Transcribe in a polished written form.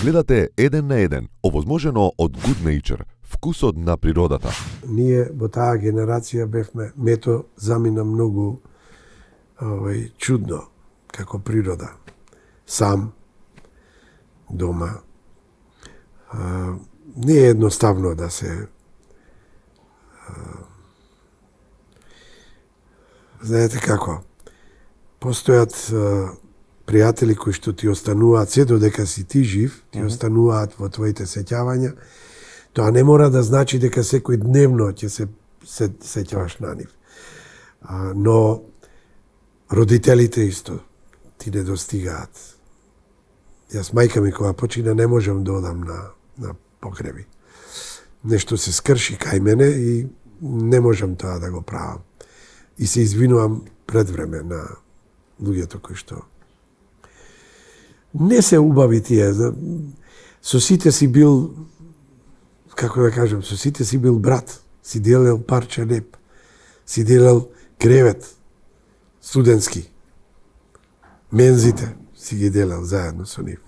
Гледате еден на еден, овозможено од Good Nature, вкусот на природата. Ние во таа генерација бевме, мето замина многу чудно, како природа. Сам, дома. Не е едноставно да се знаете како, постојат пријатели кои што ти остануваат се додека си ти жив, ти остануваат во твоите сеќавања. Тоа не мора да значи дека секој дневно ќе се сеќаваш на нив. Но родителите исто ти не достигаат. Јас мајка ми кога почина не можам да одам на погреби. Нешто се скрши кај мене и не можам тоа да го правам. И се извинувам пред време на луѓето кои што не се убави тие. Со сите си бил, како да кажам, со сите си бил брат. Си делел парче неб. Си делел кревет студентски. Мензите си ги делел заедно со нив.